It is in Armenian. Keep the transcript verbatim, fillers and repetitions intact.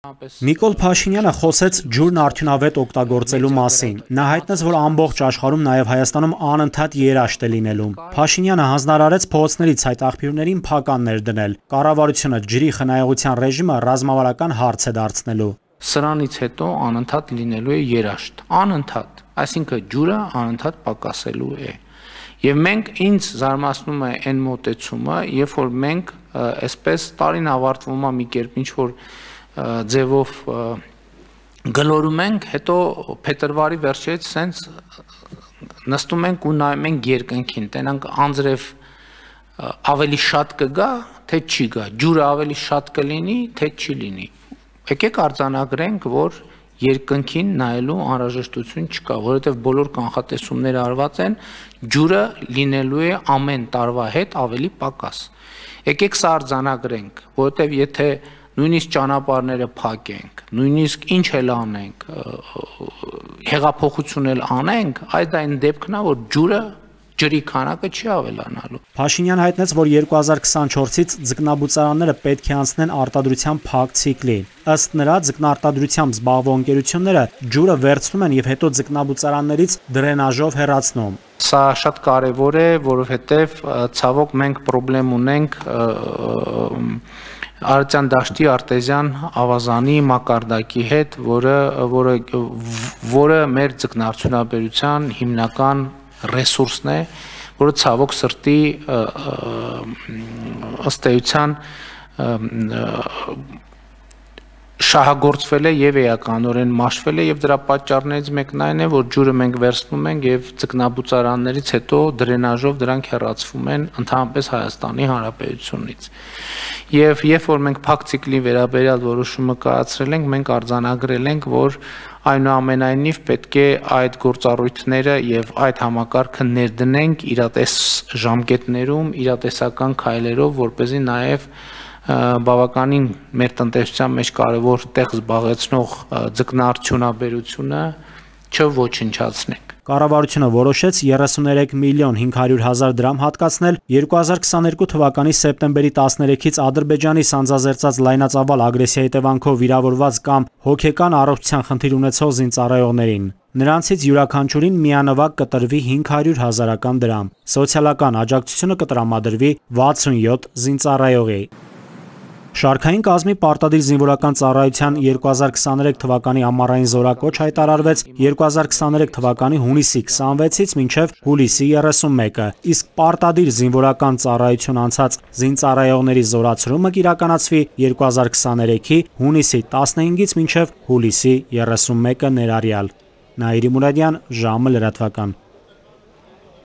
Նիկոլ Փաշինյանը խոսեց ջուրն արդյունավետ օգտագործելու մասին։ Նա հայտնեց, որ ամբողջ աշխարհում, նաև Հայաստանում անընդհատ երաշտ է լինելու։ Փաշինյանը հանձնարարեց փողոցներից այդ աղբյուրներին փականներ դնել։ Կառավարությունը ջրի խնայողության ռեժիմը ռազմավարական հարց է դարձնելու։ Սրանից հետո անընդհատ լինելու է երաշտ, անընդհատ, այսինքն ջուրը անընդհատ պակասելու է։ Եվ մենք ինձ զարմացնում է այն մոտեցումը, երբ որ մենք այսպես տարին ավարտվում է մի կերպ ինչ որ ձևով գլորում ենք, հետո փետրվարի վերջերից սենց նստում ենք ու նայում ենք երկնքին, տենանք անձրև ավելի շատ կգա, թե չի գա, ջուրը ավելի շատ կլինի, թե չի լինի։ Եկեք արձանագրենք, որ երկնքին նայելու անհրաժեշտություն չկա, որովհետև բոլոր կանխատեսումները արված են, ջուրը լինելու է ամեն տարվա հետ ավելի պակաս։ Եկեք սա արձանագրենք, որովհետև եթե նույնիսկ ճանապարհները փակենք, նույնիսկ ինչ էլ անենք, հեղափոխություն էլ անենք, այդ այն դեպքն է, որ ջուրը ջրի քանակը չի ավելանալու։ Փաշինյանը հայտնեց, որ երկու հազար քսանչորսից ձկնաբուծարանները պետք է անցնեն արտադրության փակ ցիկլի։ Ըստ նրա, ձկնարտադրությամբ զբաղվող ընկերությունները ջուրը վերցնում են եւ հետո ձկնաբուծարաններից դրենաժով հեռացնում։ Սա շատ կարևոր է, որովհետեւ ցավոք մենք խնդրեմ ունենք Արարատյան դաշտի արտեզյան ավազանի մակարդակի հետ, որը որը որը մեր ձկնարդյունաբերության հիմնական ռեսուրսն է, որը ցավոք սրտի ըստ էության շահագործվել է եւ էականորեն մաշվել է եւ դրա պատճառներից մեկն այն է, որ ջուրը մենք վերցնում ենք եւ ձկնաբուծարաններից հետո դրենաժով դրանք հեռացվում են ընդհանրապես Հայաստանի Հանրապետությունից։ Եվ երբ որ մենք փակ ցիկլի վերաբերյալ որոշումը կայացրել ենք, մենք արձանագրել ենք, որ այնուամենայնիվ պետք է այդ գործառույթները եւ այդ համակարգը ներդնենք իրատես ժամկետներում, իրատեսական քայլերով, որպեսզի նաեւ բավականին մեր տնտեսության մեջ կարևոր տեղ զբաղեցնող ձկնարդյունաբերությունը չոչնչացնենք։ Կառավարությունը որոշեց երեսուներեք միլիոն հինգ հարյուր հազար դրամ հատկացնել երկու հազար քսաներկու թվականի սեպտեմբերի տասներեքից Ադրբեջանի սանձազերծած լայնածավալ ագրեսիայի հետևանքով վիրավորված կամ հոգեկան առողջության խնդիր ունեցող զինծառայողներին։ Նրանցից յուրաքանչյուրին միանվագ կտրվի հինգ հարյուր հազարական դրամ։ Սոցիալական աջակցությունը կտրամադրվի վաթսունյոթ զինծառայողի։ Շարքային կազմի պարտադիր զինվորական ծառայության երկու հազար քսաներեք թվականի ամառային զորակոչ հայտարարվեց երկու հազար քսաներեք թվականի հունիսի քսանվեցից մինչև հուլիսի երեսունմեկը, իսկ պարտադիր զինվորական ծառայություն անցած զինծառայողների զորացումը կիրականացվի երկու հազար քսաներեքի հունիսի տասնհինգից մինչև հուլիսի երեսունմեկը ներառյալ։ Նաիրի Մուրադյան, ժամը լրատվական։